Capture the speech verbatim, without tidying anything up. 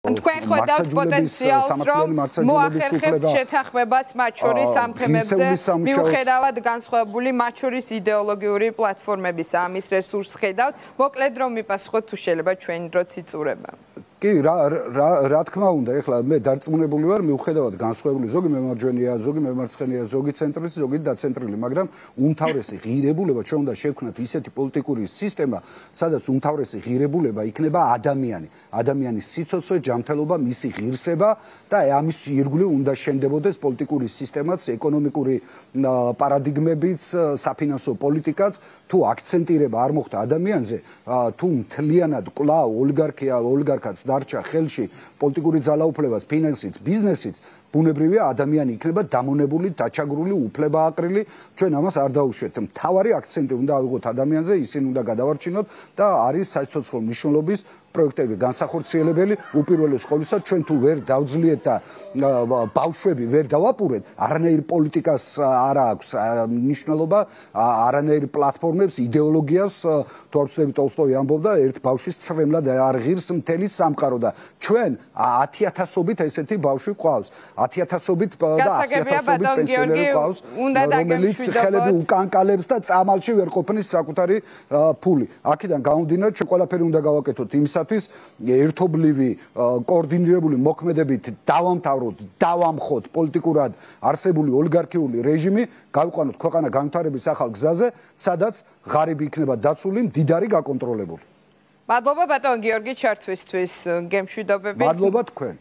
თქვენ ხედავთ პოტენციალს, რომ მოახერხებთ შეთანხმებას მათ შორის ამ თემებზე, მიუხედავად განსხვავებული მათ შორის იდეოლოგიური პლატფორმებისა, ამის რესურსს ხედავთ. მოკლედ რომ მიპასუხოთ, თუ შეიძლება ჩვენი დროც იწურება. კი, რა რა რა თქმა უნდა, ეხლა მე დარწმუნებული ვარ, მიუხედავად განსხვავებული ზოგი მემარჯვენეა, ზოგი მემარცხენეა, ზოგი ცენტრისტი, ზოგი დაცენტრული, მაგრამ უმთავრესი ღირებულება ჩვენ უნდა შევქმნათ ისეთი პოლიტიკური სისტემა, სადაც უმთავრესი ღირებულება იქნება ადამიანი, ადამიანის სიცოცხლე, ჯანმრთელობა, მისი ღირსება და ამის ირგვლივ უნდა შენდებოდეს პოლიტიკური სისტემაც, ეკონომიკური პარადიგმებიც, საფინანსო პოლიტიკაც, თუ აქცენტირება არ მოხდა ადამიანზე, თუ მთლიანად კვლავ ოლიგარქია, ოლიგარქაც დარჩა ხელში პოლიტიკური ძალაუფლებას, ფინანსიც, ბიზნესიც, ბუნებრივია ადამიანი იქნება დამონებული, დაჩაგრული, უფლებააყრილი, ჩვენ ამას არ დაუშვეთ. მთავარი აქცენტი უნდა ავიღოთ ადამიანზე, ისინი უნდა გადავარჩინოთ და არის საცოცხლო მნიშვნელობის პროექტები განსახორციელებელი, უპირველეს ყოვლისა ჩვენ თუ ვერ დავძლიეთ და ბავშვები ვერ დავაპურეთ, არანაირ პოლიტიკას არ აქვს მნიშვნელობა, არანაირ პლატფორმებს, იდეოლოგიას, თუ არ ვცდები ტოლსტოი ამბობდა, ერთ ბავშვის ცრემლად არ ღირს მთელი სამყარო და ჩვენ ათიათასობით ესეთი ბავშვი გვყავს. ათიათასობით და ასიათასობით პენსიონერი გვყავს, რომელიც ხელები უკანკალებს და წამალში ვერ ყოფნის საკუთარი ფული. აქედან გამომდინარე, ჩვენ ყველაფერი უნდა გავაკეთოთ იმისათვის, ერთობლივი, კოორდინირებული მოქმედებით დავამთავროთ, დავამხოთ პოლიტიკურად არსებული ოლიგარქიული რეჟიმი, გავიყვანოთ ქვეყანა განვითარების ახალ გზაზე, სადაც ღარიბი იქნება დაცული, მდიდარი გაკონტროლებული. მადლობა ბატონ გიორგი ჩართვისთვის, გემშვიდობებით. მადლობა თქვენ.